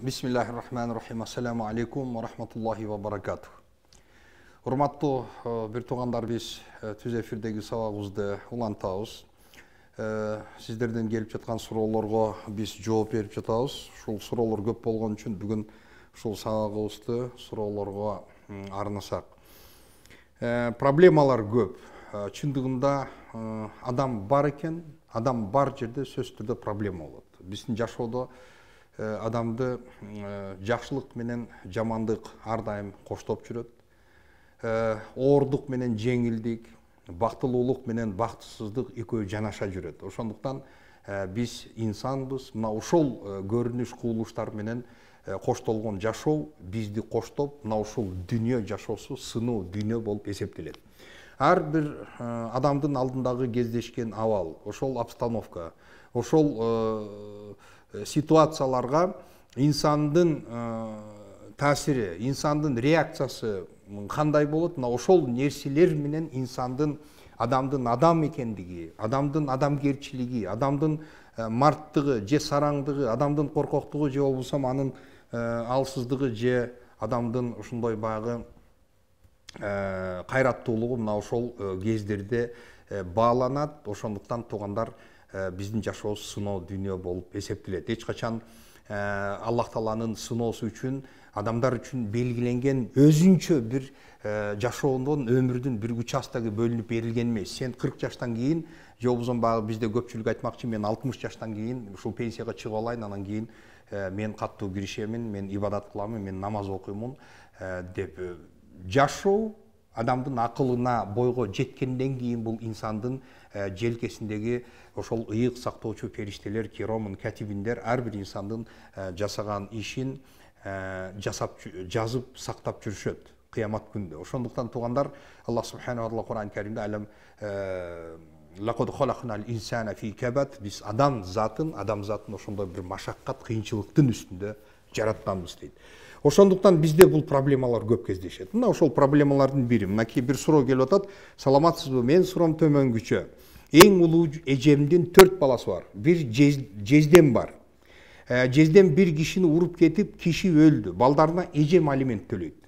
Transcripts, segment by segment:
Бисмиллахир-рахманир-рахим. Ассаламу алейкум ва рахматуллахи ва баракатух. Урматтуу бир туугандар, биз түз эфирдеги сабагыбызды улантабыз. Сиздерден келип жаткан суроолорго биз жооп берип жатабыз. Ушул суроолор көп болгон үчүн бүгүн ушул сабагыбызды суроолорго арнасак. Проблемалар көп. Чындыгында адам бар экен, адам бар жерде сөзсүз түрдө проблема болот. Биздин жашоодо адамды жакшылык менен жамандык ар дайым коштоп жүрөт. Оордук менен жеңилдик, бактылуулук менен бактысыздык экөө жанаша жүрөт. Ошондуктан биз инсанбыз. Мына ошол көрүнүш кубулуштар менен коштолгон жашоо бизди коштоп, мына ушул дүйнө жашоосу сыноо дүйнө болуп эсептелет. Ар бир адамдын алдындагы кездешкен абал, ошол обстановка, ошол ситуацияларга инсандын таасири, инсандын реакциясы кандай болот? Мына ошол нерселер менен инсандын, адамдын адам экендиги, адамдын адамгерчилиги, адамдын марттыгы же сараңдыгы, адамдын коркоктугу же болбосо анын алсыздыгы же адамдын ушундай баягы кайраттуулугу мына ошол кездерде бааланат. Ошондуктан туугандар, биздин жашообуз сыноо дүйнө болуп эсептелет. Эч качан Аллах Тааланын сыноосу үчүн, адамдар үчүн белгиленген өзүнчө бир жашоодон өмүрдүн бир участогу бөлүнүп берилген эмес. Сен 40 жаштан кийин, же болбосо баягы бизде көпчүлүк айтмакчы, мен 60 жаштан кийин ушул пенсияга чыгып алайын, анан кийин мен каттуу киришемин, мен ибадат кыламын, мен намаз окуймун деп. Жашоо адамдын акылына, бойго жеткенден кийин бул инсандын желкесиндеги ошол ыйык сактоочу периштелер, киромун катибиндер ар бир инсандын жасаган ишин жазып сактап жүрүшөт кыямат күндө. Ошондуктан туугандар, Аллах субханаху ва таала Кур'ан Каримде алам лакад халакнал инсана фи кабад, биз адам затын ошондой бир машаккат, кыйынчылыктын үстүндө жаратканбыз дейт. Ошондуктан бизде бул проблемалар көп кездешет. Мына ошол проблемалардын бири. Мынакей бир суроо келип атат. Саламатсызбы? Мен суроом төмөнгүчө. Эң улуу эжемдин 4 баласы бар. Бир жездем бар. Жездем бир кишини уруп кетип, киши өлдү. Балдарына эжем алимент төлөйт.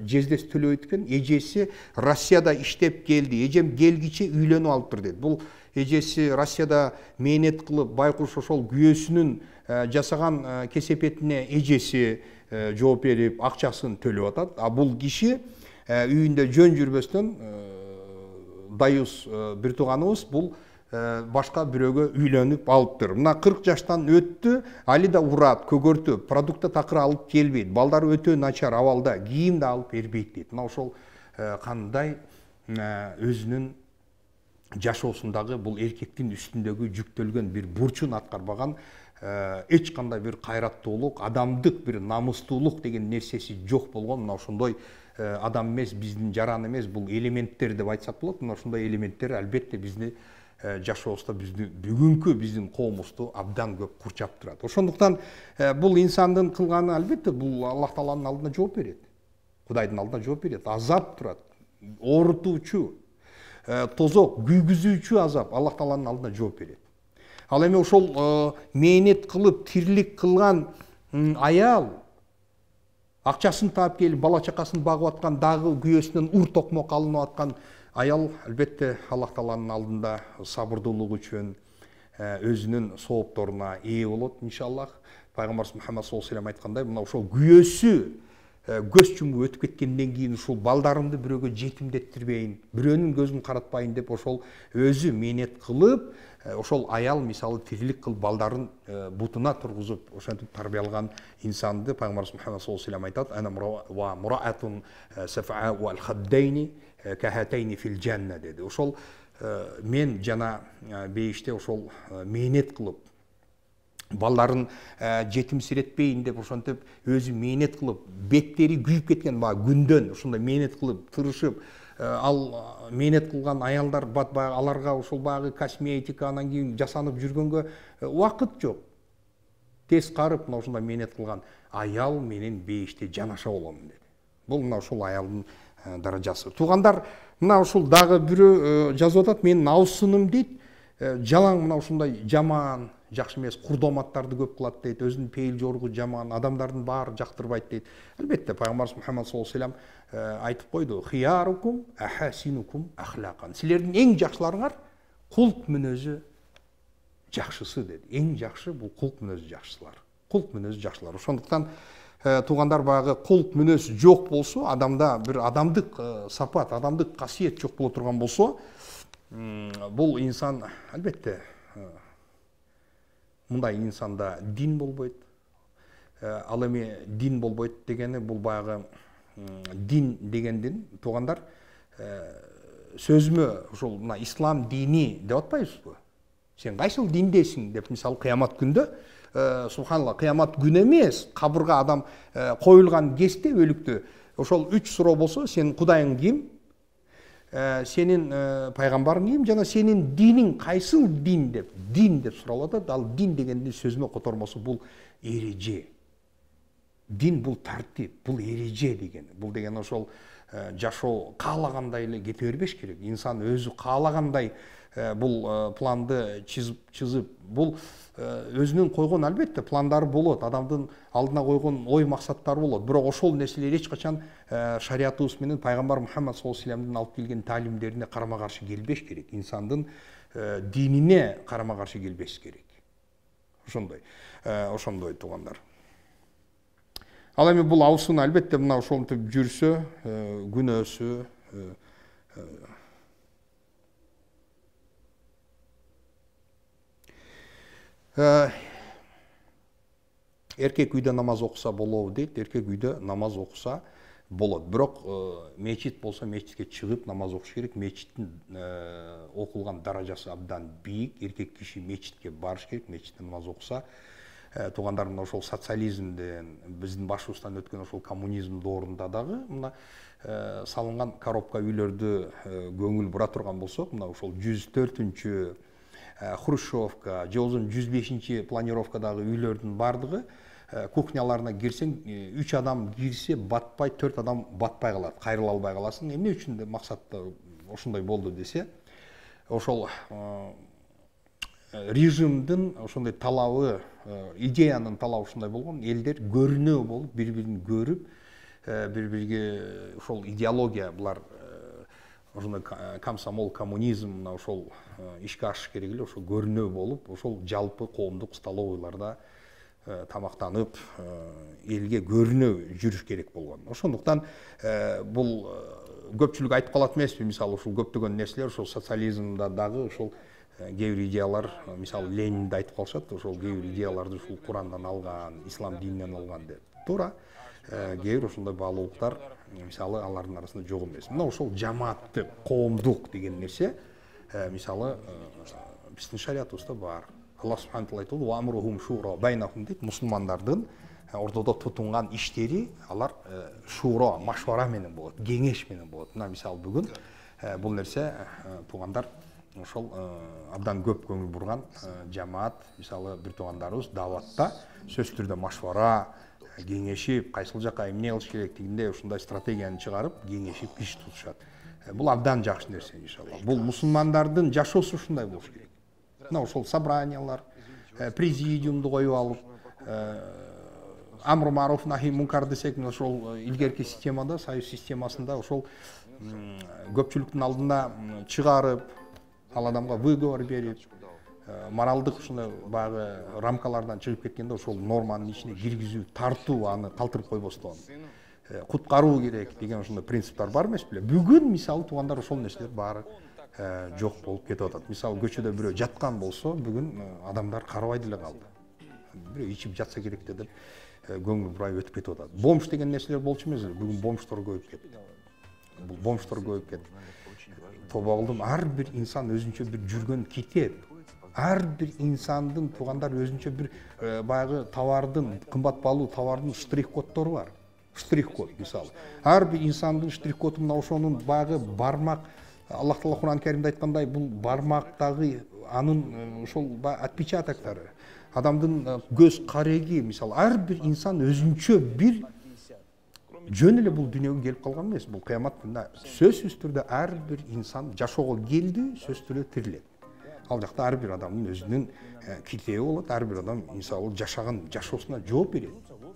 Жездеси төлөйт экен. Эжеси Россияда иштеп келди. Эжем келгиче үйлөнүп алыптыр дейт. Бул эжеси Россияда мээнет кылып, байкуш ошол күйөөсүнүн жасаган кесепетине эжеси жооп берип, акчасын төлөп атат. А бул киши үйүндө жөн жүрбөстөн, дайыс бир тууганыбыз бул башка бирөөгө үйлөнүп алыптыр. Мына 40 жаштан өттү, али да урат, көгөртүп, продукта такыр алып келбейт. Балдары өтө начар абалда, кийим да алып бербейт дейт. Мына ошол кандай өзүнүн жашоосундагы бул эркектин үстүндөгү жүктөлгөн бир бурчун аткарбаган, эч кандай бир кайраттуулук, адамдык бир намыстуулук деген нерсеси жок болгон. Мына ошондой адам эмес, биздин жаран эмес, бул элементтер деп айтсак болот. Мына ошондой элементтер албетте бизди жашообузда, бүгүнкү биздин коомубузду абдан көп курчап турат. Ошондуктан бул инсандын кылганы албетте бул Аллах Тааланын алдына жооп берет. Кудайдын алдына жооп берет. Азап турат. Оорутуучу, тозок, күйгүзүүчү азап Аллах Тааланын алдына жооп берет. Ал эми ошол мээнет кылып, тирлик кылган аял, акчасын таап келип, бала чакасын багып аткан, дагы күйөөсүнөн ур токмок алынып аткан аял албетте Аллах Тааланын алдында сабырдуулук үчүн өзүнүн соопторуна ээ болот иншаллах. Пайгамбарыбыз Мухаммад саллаллаху алейхи ва саллям айткандай, мына ошол күйөөсү көз чумуп өтүп кеткенден кийин ушул балдарымды бирөөгө жетимдеттирбейин, бирөөнүн көзүн каратпайын деп ошол өзү мээнет кылып, ошол аял мисалы тирлик кылып балдарын бутуна тургузуп ошентип тарбиялаган инсанды Пайгамбарыбыз Мухаммад саллаллаху алейхи ва саллям айтат: "Ана ва мураатун сафаа вал хаддайни кахатайни фил жанна" деди. Ошол мен жана бейиште ошол мээнет кылып балдарын жетимсиретпейин деп ошентип өзү мээнет кылып, беттери күйүп кеткен баягы күндөн ошондой мээнет кылып тырышып, ал мээнет кылган аялдар баягы аларга ошол баягы косметика, анан кийин жасанып жүргөнгө убакыт жок. Тез карып, мына ошондой мээнет кылган аял менен бейиште жанаша болом деди. Бул мына ошол аялдын даражасы. Туугандар, мына ушул дагы бирөө жазып атат, менин абысыным дейт, жалаң мына ушундай жаман, жакшы эмес, курдоматтарды көп кылат дейт, өзүнүн пейил жоругу жаман, адамдардын баары жактырбайт дейт. Албетте пайгамбарыбыз Мухаммад саллаллаху алейхи ва саллям айтып койду: "Хиярукум ахасинукум ахлакан." Силердин эң жакшыларыңар кулк мүнөзү жакшысы деди. Эң жакшы бул кулк мүнөзү жакшылар. Кулк мүнөзү жакшылар. Ошондуктан туугандар, баягы кулк мүнөз жок болсо, адамда бир адамдык сапат, адамдык касиет жок боло турган болсо, бул инсан албетте мындай инсанда дин болбойт. Ал эми дин болбойт дегени бул баягы дин дегендин туугандар сөзмө ошол мына ислам дини деп атпайбызбы? Сен кайсыл диндесиң деп, мисалы кыямат күндө, субханалла, кыямат күнү эмес, кабырга адам коюлган кезде өлүктө ошол 3 суроо болсо: сен кудайың ким? Сенин пайгамбарың ким? Жана сенин диниң кайсыл дин деп суралып атат. Ал дин дегендин сөзмө котормосу бул эреже. Дин бул тартип, бул эреже деген. Бул деген ошол жашоо каалагандай эле кете бербеш керек. Инсан өзү каалагандай бул планды чызып, бул өзүнүн койгон албетте пландары болот, адамдын алдына койгон ой максаттары болот. Бирок ошол нерселер эч качан шариятыбыз менен пайгамбар Мухаммад саллаллаху алейхи ва саллямдын алып келген таалимдерине карама каршы келбеш керек. Инсандын динине карама каршы келбеш керек. Ошондой туугандар. Ал эми бул абысын албетте мына ошентип жүрсө, күнөөсү эркек үйдө намаз окуса болобу дейт. Эркек үйдө намаз окуса болот. Бирок мечит болсо мечитке чыгып намаз окуш керек. Мечиттин окулган даражасы абдан бийик. Эркек киши мечитке барыш керек. Мечитте намаз окуса, туугандар, мына ошол социализмден, биздин башыбыздан өткөн ошол коммунизм доорунда дагы мына салынган коробка үйлөрдү көңүл бура турган болсок, мына ошол 104-үнчү Хрущевка, же болбосо 105-чи планировкадагы үйлөрдүн бардыгы кухняларына кирсең, 3 адам кирсе батпай, 4 адам батпай калат, кайрыла албай каласың. Эмне үчүн деп максатта ошондой болду десе, ошол режимдин ошондой талабы, идеянын талабы ушундай болгон. Элдер көрүнүү болуп, бири-бирин көрүп, бири-бирге ошол идеология, булар ошондой комсомол, коммунизм, мына ошол ишке ашыш керек эле, ошол көрүнүү болуп, ошол жалпы коомдук столовойларда тамактанып, элге көрүнүү жүрүш керек болгон. Ошондуктан бул көпчүлүк айтып калат эмеспи, мисалы ушул көптөгөн нерселер ошол социализмда дагы ошол кээ бир идеялар, мисалы Ленинди айтып калышат, ошол кээ бир идеяларды ушул Курандан алган, ислам дининен алган деп. Туура, кээ бир ошондой баалуулуктар мисалы алардын арасында жок эмес. Мына ошол жамааттык, коомдук деген нерсе мисалы биздин шариятыбызда бар. Аллах субхана таала айтты: "Ва амрухум шура байнахум" дейт. Мусулмандардын ортодо тутунган иштери алар шуро, машвара менен болот, кеңеш менен болот. Мына мисалы бүгүн бул нерсе туугандар ошол абдан көп көңүл бурган жамаат, мисалы бир туугандарыбыз дааватта сөзсүз түрдө машвара, кеңешип, кайсыл жака эмне кылыш керек дегенде ушундай стратегияны чыгарып, кеңешип иш тутушат. Бул абдан жакшы нерсе иншалла. Бул мусулмандардын жашоосу ушундай болуш керек. Мына ошол собраниялар, президиумду коюп алып, амру маруф нахи мункар десек, ошол илгерки системада, союз системасында ошол көпчүлүктүн алдына чыгарып, ал адамга выговор берип, моралдык ушундай баягы рамкалардан чыгып кеткенде ошол норманын ичине киргизүү, тартуу, аны калтырып койбостон куткаруу керек деген ошондой принциптер бар эмес беле. Бүгүн мисалы туугандар ошол нерселер баары жок болуп кетип атат. Мисалы көчөдө бирөө жаткан болсо, бүгүн адамдар карабай деле калды. Бирөө ичип жатса керек деп көңүл бурай өтүп кетип атат. Бомж деген нерселер болчу эмес, бүгүн бомждор көбөйүп кетти. Бул бомждор көбөйүп кетти. Тоба кылдым, ар бир инсан өзүнчө бир жүргөн китеп. Ар бир инсандын туугандар өзүнчө бир баягы товардын, кымбат баалуу товардын штрих-коддору бар. Штрих-код мисалы. Ар бир инсандын штрих-коду мына ошонун баягы бармак, Аллах Таала Куран Каримде айткандай, бул бармактагы анын ошол отпечатоктору, адамдын көз кареги, мисалы ар бир инсан өзүнчө бир жөн эле бул дүйнөгө келип калган эмес. Бул кыямат күнүнө сөзсүз түрдө ар бир инсан жашоого келди, сөзсүз түрдө тирилет. Ал жакта ар бир адамдын өзүнүн китеби болот, ар бир адам мисалы жашаган жашоосуна жооп берет.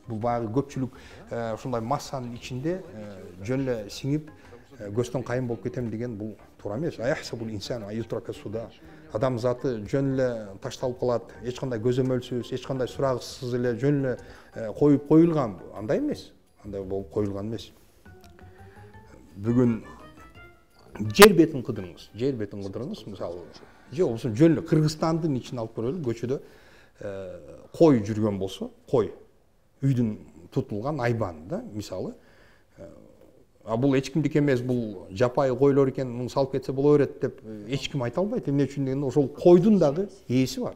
Бул баягы көпчүлүк ушундай массанын ичинде жөн эле сиңип көздөн кайын болуп кетем деген бул туура эмес. Аяхсабул инсан аютрака суда. Адам заты жөн эле ташталып калат, эч кандай көзөмөлсүз, эч кандай сурагысыз эле жөн эле коюп коюлган. Андай эмес. Андай болуп коюлган эмес. Бүгүн жер бетин кыдырыңыз, мисалы, же болбосо жөн эле Кыргызстандын ичине алып көрөлү, көчөдө кой жүргөн болсо, кой үйдүн тутулган айбаны мисалы. Бул эч кимдики эмес, бул жапайы койлор экен, муну салып кетсе боло берет деп эч ким айта албайт. Эмне үчүн дегенде ошол койдун дагы ээси бар.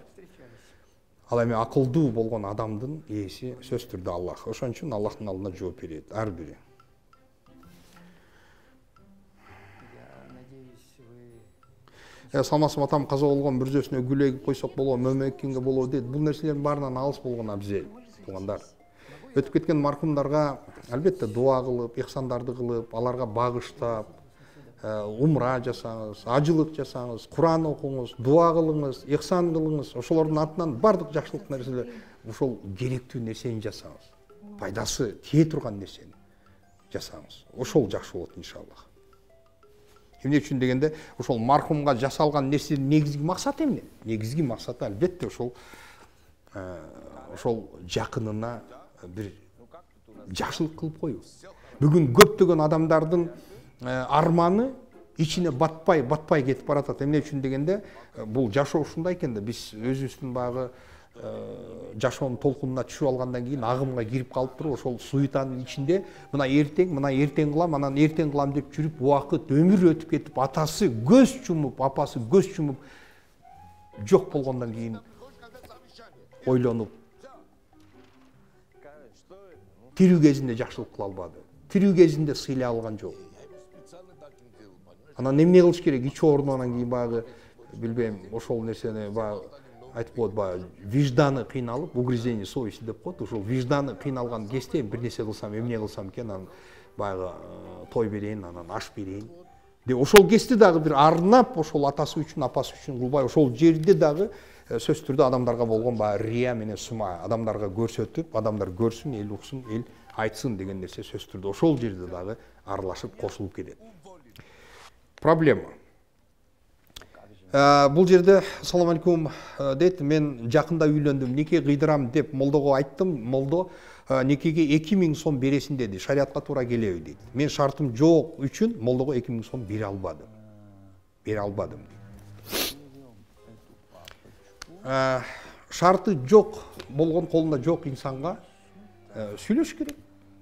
Ал эми акылдуу болгон адамдын ээси сөзсүз түрдө Аллах. Ошон үчүн Аллахтын алдында жооп берет ар бири. Салмасым атам каза болгон бүрзөсүнө гүл эгип койсок болобу, мөмөккенге болобу дейт. Бул нерселердин баарынан алыс болгон абзел, туугандар. Өтүп кеткен маркумдарга албетте дуа кылып, ихсандарды кылып, аларга багыштап, умра жасаңыз, ажылык жасаңыз, Куран окуңуз, дуа кылыңыз, ихсан кылыңыз. Ошолордун атынан бардык жакшылык нерселер, ошол керектүү нерсени жасаңыз. Пайдасы тие турган нерсени жасаңыз. Ошол жакшы болот иншаллах. Эмне үчүн дегенде, ошол мархумга жасалган нерсенин негизги максаты эмне? Негизги максаты албетте ошол жакынына бир жакшылык кылып коюу. Бүгүн көптөгөн адамдардын арманы ичине батпай кетип баратат. Эмне үчүн дегенде, бул жашоо ушундай экен да, биз өзүбүздүн баягы жашоонун толкунуна түшүп алгандан кийин агымга кирип калып туруп, ошол суетанын ичинде мына эртең кылам, анан эртең кылам деп жүрүп, убакыт, өмүр өтүп кетип, атасы көз чумуп, апасы көз чумуп жок болгондон кийин ойлонуп, тирүү кезинде жакшылык кыла албады, тирүү кезинде сыйлай алган жок. Анан эмне кылыш керек? Ич оорунгандан кийин баягы билбейм, ошол нерсени баягы айтып коет, баягы вижданы кыйналып, угрызение совести деп коет. Ошол вижданы кыйналган кезде бир нерсе кылсам, эмне кылсам экен, анан баягы той берейин, анан аш берейин деп ошол кезде дагы бир арнап, ошол атасы үчүн, апасы үчүн кылбай, ошол жерде дагы сөзсүз түрдө адамдарга болгон баягы рия менен сума, адамдарга көрсөтүп, адамдар көрсүн, эл уксун, эл айтсын деген нерсе сөзсүз түрдө ошол жерде дагы аралашып, кошулуп кетет. Проблема. Бул жерде салам алейкум дейт, мен жакында үйлөндүм, неке кыйдырам деп молдого айттым. Молдо некеге 2000 сом бересин деди. Шариатка туура келеби дейт. Мен шартым жок үчүн молдого 2000 сом бере албадым. Шарты жок болгон, колунда жок инсанга сүйлөш керек.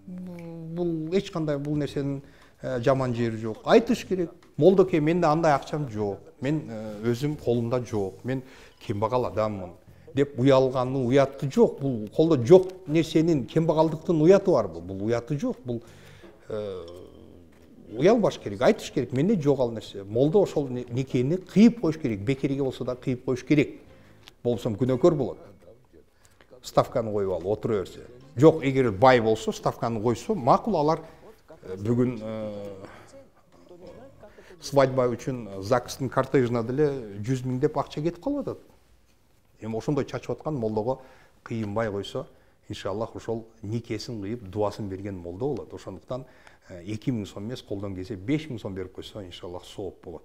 Бул эч кандай бул нерсенин жаман жери жок. Айтыш керек. Молдоке, менде андай акчам жок. Мен өзүм колумда жок. Мен кембагал адаммын деп уялганын уяты жок. Бул колдо жок нерсенин, кембагалдыктын уяты бар. Бул уяты жок. Бул уялбаш керек, айтыш керек. Менде жок ал нерсе. Молдо ошол некени кыйып коюш керек. Бекерге болсо да кыйып коюш керек. Болсом күнөөкөр болот. Ставканы коюп алып отура берсе. Жок, эгер бай болсо, ставканы койсо, макул. Алар бүгүн свадьба үчүн ЗАГСтын кортежине деле 100 000 деп акча кетип калып атат. Эми ошондой чачып аткан молдого кыйынбай койсо, иншаллах ошол никесин кыйып, дуасын берген молдо болот. Ошондуктан 2000 сом эмес, колдон келсе 5000 сом берип койсо, иншаллах сооп болот.